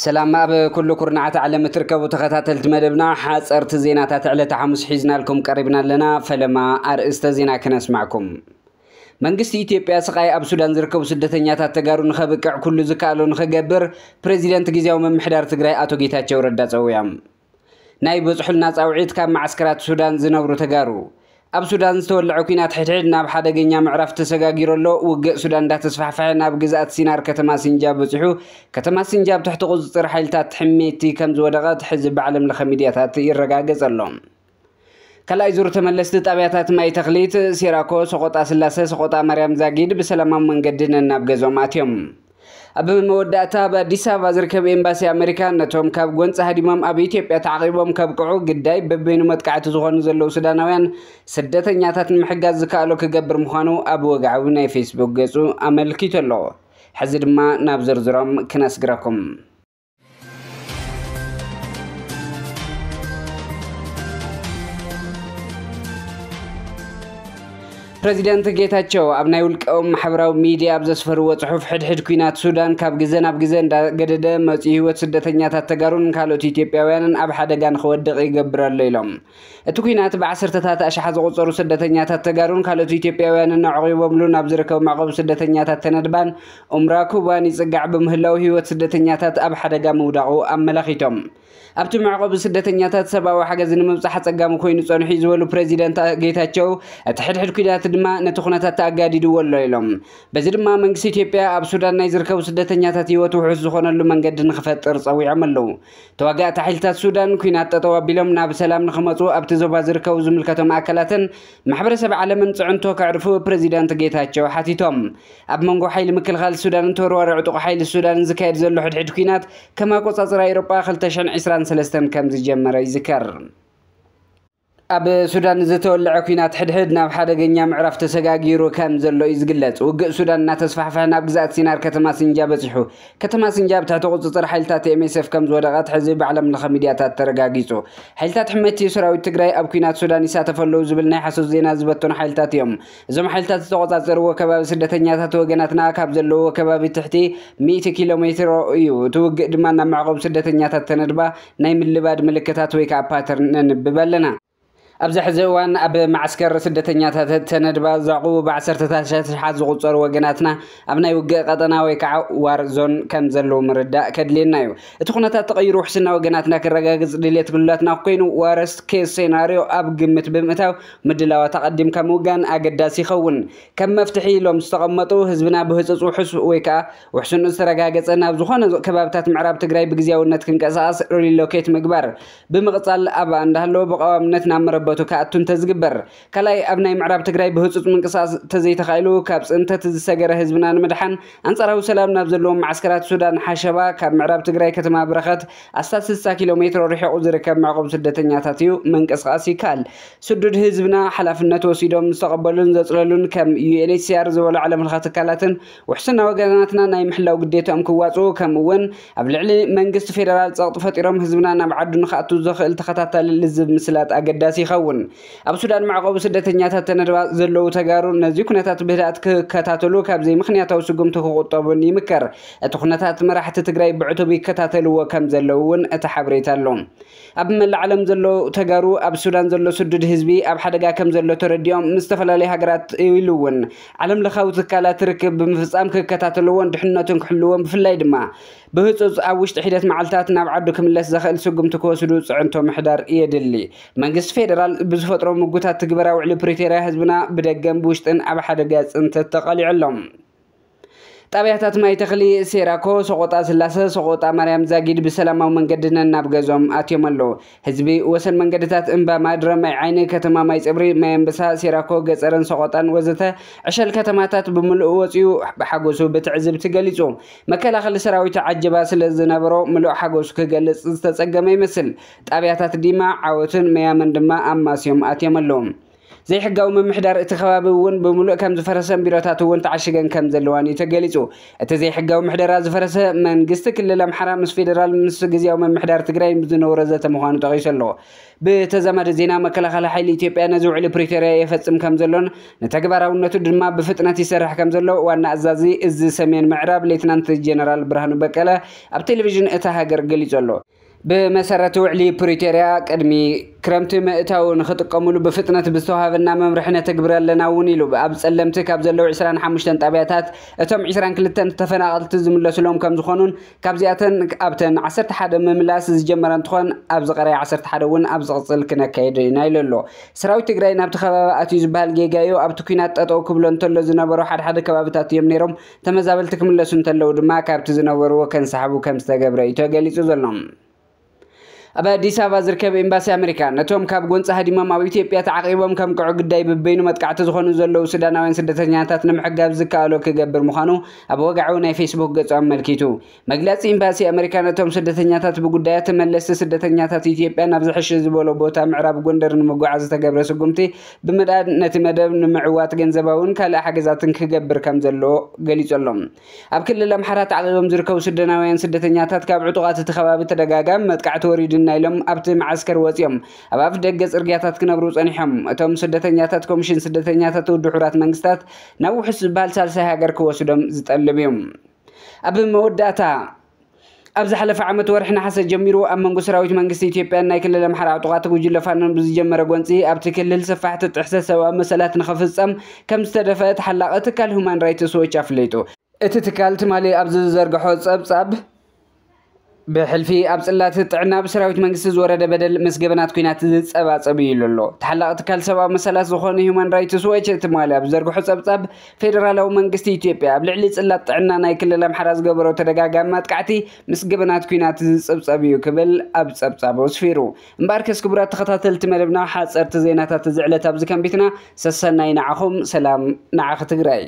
ሰላም ኣብ ኩሉ ኩርናዓት ዓለም እትርከቡ ተኸታተልቲ መደብና፣ ሓጸርቲ ዜናታት ዕለተ ሓሙስ ሒዝናልኩም ቀሪብና ኣለና። ፈለማ ኣርእስተ ዜና ክነስማዕኩም። መንግስቲ ኢትዮጵያ ስቓይ ኣብ ሱዳን ዝርከቡ ስደተኛታት ተጋሩ ንኸብቅዕ ኩሉ ዝከኣሎ ንኽገብር ፕሬዚደንት ግዝያዊ ምምሕዳር ትግራይ ኣቶ ጌታቸው ረዳ ጸዊዖም። ናይ በጽሑልና ጻውዒት ካብ መዓስከራት ሱዳን ዝነብሩ ተጋሩ። ኣብ ሱዳን ዝተወለዐ ኲናት ሕድሕድ ናብ ሓደገኛ ምዕራፍ ተሰጋጊሩ ኣሎ። ውግእ ሱዳን እንዳተስፋሕፈሐ ናብ ግዝኣት ሲናር ከተማ ሲንጃብ በጺሑ። ከተማ ሲንጃብ ትሕቲ ቁጽጽር ሓይልታት ሕሜቲ ከም ዝወደቐት ሕዚ ብዓለም ለኸ ሚድያታት ይረጋገጽ ኣሎ። ካልኣይ ዙር ተመለስቲ ጣብያታት ማይ ተኽሊት፣ ሴራኮ፣ ሰቆጣ ስላሰ፣ ሰቆጣ ማርያም ዛጊድ ብሰላማዊ መንገዲ ነናብ ገዝኦም ኣትዮም። ኣብ መወዳእታ ኣብ ኣዲስ ኣበባ ዝርከብ ኤምባሲ ኣሜሪካ ነቶም ካብ ጎንፂ ሃዲሞም ኣብ ኢትዮጵያ ተዓቂቦም ከብቅዑ ግዳይ በበይኑ መጥቃዕቲ ዝኾኑ ዘለዉ ሱዳናውያን ስደተኛታት ንምሕጋዝ ዝከኣሎ ክገብር ምዃኑ ኣብ ወግዓዊ ናይ ፌስቡክ ገፁ ኣመልኪቱ ኣሎ። ሕዚ ድማ ናብ ዝርዝሮም ክነስግረኩም። ፕረዚደንት ጌታቸው ኣብ ናይ ውልቃዊ ማሕበራዊ ሚድያ ኣብ ዘስፈርዎ ጽሑፍ፣ ሕድሕድ ኲናት ሱዳን ካብ ግዘ ናብ ግዘ እንዳገደደ መጺኡ ህይወት ስደተኛታት ተጋሩን ካልኦት ኢትዮጵያውያንን ኣብ ሓደጋ ንኽወድቕ ይገብር ኣሎ ኢሎም። እቲ ኲናት ብዓሰርተታት ኣሽሓት ዝቑጸሩ ስደተኛታት ተጋሩን ካልኦት ኢትዮጵያውያንን ኣዕቒቦምሉ ናብ ዝርከቡ መዕቆቢ ስደተኛታት ተነድባን ኡምራ ኩባን ይጽጋዕ ብምህላው ህይወት ስደተኛታት ኣብ ሓደጋ ምውዳቑ ኣመላኺቶም። ኣብቲ መዕቆቢ ስደተኛታት ሰብኣዊ ሓገዝ ንምብጻሕ ኣጸጋሚ ኮይኑ ጸኒሑ እዩ ዝበሉ ፕረዚደንት ጌታቸው፣ እቲ ሕድሕድ ኲናት ድማ ነቲ ኩነታት ኣጋዲድዎ ኣሎ ኢሎም። በዚ ድማ መንግስቲ ኢትዮጵያ ኣብ ሱዳን ናይ ዝርከቡ ስደተኛታት ህይወት ውሑስ ዝኾነሉ መንገዲ ንኽፈጥር ጸዊዖም ኣለዉ። ተዋጋእቲ ሓይልታት ሱዳን ኲናት ጠጠው ኣቢሎም ናብ ሰላም ንኽመጹ ኣብቲ ዞባ ዝርከቡ ዝምልከቶም ኣካላትን ማሕበረሰብ ዓለምን ጽዕንቶ ከዕርፉ ፕረዚደንት ጌታቸው ሓቲቶም። ኣብ መንጎ ሓይሊ ምክልኻል ሱዳንን ተወርዋሪ ዕጡቕ ሓይሊ ሱዳንን ዝካየድ ዘሎ ሕድሕድ ኲናት ከም ኣቆጻጽራ ኤውሮጳ ክልተ ሽሕን ዕስራን ሰለስተን ከም ዝጀመረ ይዝከር። ኣብ ሱዳን ዝተወለዐ ኲናት ሕድሕድ ናብ ሓደገኛ ምዕራፍ ተሰጋጊሩ ከም ዘሎ እዩ ዝግለጽ። ውግእ ሱዳን እናተስፋሕፈሐ ናብ ግዝኣት ሲናር ከተማ ሲንጃ በጺሑ። ከተማ ሲንጃ ኣብ ትሕቲ ቁጽጽር ሓይልታት ኤምኤስኤፍ ከም ዝወደቐት ሕዚ ብዓለም ለኸ ሚድያታት ተረጋጊጹ። ሓይልታት ሕመቲ ሰራዊት ትግራይ ኣብ ኲናት ሱዳን ይሳተፉ ኣለዉ ዝብል ናይ ሓሶት ዜና ዝበተኑ ሓይልታት እዮም። እዞም ሓይልታት ዝተቆጻጸርዎ ከባቢ ስደተኛታት ወገናትና ካብ ዘለዎ ከባቢ ትሕቲ ሚእቲ ኪሎ ሜትሮ እዩ። እቲ ውግእ ድማ ናብ መዕቆቢ ስደተኛታት ተነድባ ናይ ምልባድ ምልክታት ወይ ከዓ ፓተርን ነንብብ ኣለና። ኣብዚ ሕዚ እዋን ኣብ መዓስከር ስደተኛታት ተነድባ ዘዕቁቡ ብዓሰርተታት ኣሽሓት ዝቑጸሩ ወገናትና ኣብ ናይ ውግእ ቀጠና ወይ ከዓ ዋር ዞን ከም ዘለዉ ምርዳእ ከድልየና እዩ። እቲ ኩነታት ተቐይሩ ውሕስና ወገናትና ክረጋግጽ ድልየት ክህሉላትና ኮይኑ፣ ዋረስት ኬስ ሴናርዮ ኣብ ግምት ብምእታው ምድላዋት ኣቐዲምካ ምውጋን ኣገዳሲ ይኸውን። ከም መፍትሒ ኢሎም ዝተቐመጡ፣ ህዝብና ብህጹጽ ውሑስ ወይ ከዓ ውሕስንኡ ዝተረጋገጸ ናብ ዝኾነ ከባብታት ምዕራብ ትግራይ ብግዝያውነት ክንቀሳቐስ ሪሎኬት ምግባር፣ ብምቕጻል ኣብ እንዳሃለወ ብቐዋምነት ናብ መረበቱ ክኣቱ እንተዝግበር። ካልኣይ፣ ኣብ ናይ ምዕራብ ትግራይ ብህጹጽ ምንቅስቓስ ተዘይተኻኢሉ፣ ካብ ጽንተት ዝሰገረ ህዝብና ንምድሓን፣ ኣንጻራዊ ሰላም ናብ ዘለዎም መዓስከራት ሱዳን ሓሸባ፣ ካብ ምዕራብ ትግራይ ከተማ ብረኸት ኣስታት ስልሳ ኪሎ ሜትሮ ርሒቑ ዝርከብ መዕቆቢ ስደተኛታት እዩ፣ ምንቅስቓስ ይከኣል። ስዱድ ህዝብና ሓላፍነት ወሲዶም ዝተቐበሉን ዘጽለሉን ከም ዩ ኤን ኤች ሲ ኣር ዝበሉ ዓለም ለኸ ትካላትን ውሕስና ወገናትና ናይ ምሕላው ግዴታኦም ክዋጽኡ፣ ከምኡ እውን ኣብ ልዕሊ መንግስቲ ፌደራል ጸቕጢ ፈጢሮም ህዝብና ናብ ዓዱ ንኽኣቱ ዘኽእል ተኸታታሊ ልዝብ ምስላጥ ኣገዳሲ ይኸውን። ኣብ ሱዳን መዕቆቢ ስደተኛታት ተነድባ ዘለዉ ተጋሩ ነዚ ኩነታት ብህድኣት ክከታተሉ፣ ካብ ዘይምኽንያታዊ ስጉምቲ ክቑጠቡን ይምከር። እቲ ኩነታት መራሕቲ ትግራይ ብዕቱብ ይከታተልዎ ከም ዘለዉ እውን እቲ ሓበሬታ ኣሎ። ኣብ መላእ ዓለም ዘለዉ ተጋሩ ኣብ ሱዳን ዘሎ ስዱድ ህዝቢ ኣብ ሓደጋ ከም ዘሎ ተረዲኦም ምስ ዝተፈላለዩ ሃገራት ኢሉ እውን ዓለም ለኻዊ ትካላት ርክብ ብምፍጻም ክከታተልዎን ድሕነቱን ክሕልዎን፣ ብፍላይ ድማ ብህጹጽ ኣብ ውሽጢ ሒደት መዓልታት ናብ ዓዱ ክምለስ ዘኽእል ስጉምቲ ክወስዱ ጽዕንቶ ምሕዳር የድሊ። መንግስቲ ፌደራል ብዝፈጥሮ ምጉታት ትግበራ ውዕሊ ፕሪቶርያ ህዝብና ብደገን ብውሽጥን ኣብ ሓደጋ ጽንተት ተቐሊዑ ኣሎ። ጣብያታት ማይ ተኽሊ፣ ሴራኮ፣ ሰቆጣ ስላሰ፣ ሰቆጣ ማርያም ዛጊድ ብሰላማዊ መንገዲ ነናብ ገዝኦም ኣትዮም ኣለዉ። ህዝቢ ወሰን መንገድታት እምባ ማድረ፣ ማይ ዓይኒ፣ ከተማ ማይ ጽብሪ፣ ማይ ኣንበሳ፣ ሴራኮ፣ ገጸርን ሰቆጣን ወዘተ ዕሸል ከተማታት ብምሉእ ወጺኡ ብሓጎሱ ብትዕዝብቲ ገሊጹ። መከላኸሊ ሰራዊት ዓጀባ ስለ ዝነበሮ ምሉእ ሓጎሱ ክገልጽ ዝተጸገመ ይመስል። ጣብያታት ዲማ፣ ዓወትን መያመን ድማ ኣማስዮም ኣትዮም ኣለዉ። ዘይሕጋዊ ምምሕዳር እቲ ከባቢ እውን ብምሉእ ከም ዝፈረሰን ቢሮታት እውን ተዓሽገን ከም ዘለዋን እዩ ተገሊጹ። እቲ ዘይሕጋዊ ምሕደራ ዝፈረሰ መንግስቲ ክልል ኣምሓራ ምስ ፌደራል ምስ ግዝያዊ ምምሕዳር ትግራይ ዝነበሮ ዘተ ምዃኑ ጠቒሱ ኣሎ። ብተዛማዲ ዜና፣ መከላኸሊ ሓይሊ ኢትዮጵያ ነዚ ውዕሊ ፕሪቶርያ የፈጽም ከም ዘሎን ንተግባራውነቱ ድማ ብፍጥነት ይሰርሕ ከም ዘሎ ዋና ኣዛዚ እዚ ሰሜን ምዕራብ ሌትናንት ጀነራል ብርሃኑ በቀለ ኣብ ቴሌቪዥን እታ ሃገር ገሊጹ ኣሎ። ብመሰረት ውዕሊ ፕሪቶርያ፣ ቅድሚ ክረምቲ ምእታው ንኽጥቀሙሉ ብፍጥነት ብዝተዋሃበና መምርሒ ነተግብር ኣለና እውን ኢሉ። ኣብ ጸለምቲ ካብ ዘለዉ ዕስራን ሓሙሽተን ጣብያታት እቶም ዕስራን ክልተን ተፈናቐልቲ ዝምለሱሎም ከም ዝኾኑን ካብዚኣተን ኣብተን ዓሰርተ ሓደ ምምላስ ዝጀመረ እንትኾን፣ ኣብ ዝቐረየ ዓሰርተ ሓደ እውን ኣብ ዝቕጽል ክነካይድ ኢና ኢሉ ኣሎ። ሰራዊት ትግራይ ናብቲ ከባቢ ኣትዩ ዝበሃል ጌጋ እዩ። ኣብቲ ኲናት ጠጠው ክብሎ እንተሎ ዝነበሩ ሓደ ሓደ ከባብታት እዮም ነይሮም። ተመዛበልቲ ክምለሱ እንተለዉ ድማ ካብቲ ዝነበርዎ ከንሰሓቡ ከም ዝተገብረ እዩ ተገሊጹ ዘሎ። ኣብ ኣዲስ ኣበባ ዝርከብ ኤምባሲ ኣሜሪካ ነቶም ካብ ጎንፂ ሃዲሞም ኣብ ኢትዮጵያ ተዓቂቦም ከም ቅዑ ግዳይ ብበይኑ መጥቃዕቲ ዝኾኑ ዘለዉ ሱዳናውያን ስደተኛታት ንምሕጋዝ ዝከኣሎ ክገብር ምዃኑ ኣብ ወግዓዊ ናይ ፌስቡክ ገጹ ኣመልኪቱ። መግለጺ ኤምባሲ ኣሜሪካ ነቶም ስደተኛታት ብጉዳያት ተመለስቲ ስደተኛታት ኢትዮጵያ ናብ ዝሕሸ ዝበሎ ቦታ ምዕራብ ጎንደር ንምጉዓዝ ዝተገብረ ስጉምቲ ብምድኣድ ነቲ መደብ ንምዕዋት ገንዘባውን ካልእ ሓገዛትን ክገብር ከም ዘሎ ገሊጹ ኣሎ። ኣብ ክልል ኣምሓራ ተዓቂቦም ዝርከቡ ሱዳናውያን ስደተኛታት ካብ ዕጡቓት እቲ ከባቢ ተደጋጋሚ መጥቃዕቲ ወሪዱና ኢሎም ኣብቲ መዓስከር ወጺኦም ኣብ ኣፍ ደገ ጽርግያታት ክነብሩ ጸኒሖም። እቶም ስደተኛታት ኮሚሽን ስደተኛታት ውድብ ሕቡራት መንግስታት ናብ ውሑስ ዝበሃል ሳልሳይ ሃገር ክወስዶም ዝጠልብ እዩ። ኣብ መወዳእታ፣ ኣብ ዝሓለፈ ዓመት ወርሒ ነሓሰ ጀሚሩ ኣብ መንጎ ሰራዊት መንግስቲ ኢትዮጵያን ናይ ክልል ኣምሓራ ዕጡቓት ጉጅለ ፋኖን ብዝጀመረ ጎንፂ ኣብቲ ክልል ሰፋሕቲ ጥሕሰት ሰብኣዊ መሰላት ንኽፍፀም ከም ዝተደፈአ ተሓላቒ ትካል ሁማን ራይትስ ዎች ኣፍሊጡ። እቲ ትካል ትማሊ ኣብ ዝዘርግሖ ጸብጻብ፣ ብሕልፊ ኣብ ጽላት ጥዕና ብሰራዊት መንግስቲ ዝወረደ በደል ምስ ገበናት ኲናት ዝጸባጸብ እዩ ኢሉ ኣሎ። ተሓላቒ ትካል ሰብኣዊ መሰላት ዝኾነ ሁማን ራይትስ ዎች ትማሊ ኣብ ዝዘርግሖ ጸብጻብ፣ ፌደራላዊ መንግስቲ ኢትዮጵያ ኣብ ልዕሊ ጽላት ጥዕና ናይ ክልል ኣምሓራ ዝገበሮ ተደጋጋሚ መጥቃዕቲ ምስ ገበናት ኲናት ዝጽብጸብ እዩ ክብል ኣብ ጸብጻቡ ኣስፊሩ። እምበኣርከስ ክቡራት ተኸታተልቲ መደብና፣ ሓጸርቲ ዜናታት እዚ ዕለት ኣብዚ ከንቢትና። ሰሰናይ ንዓኹም፣ ሰላም ንዓኺ ትግራይ።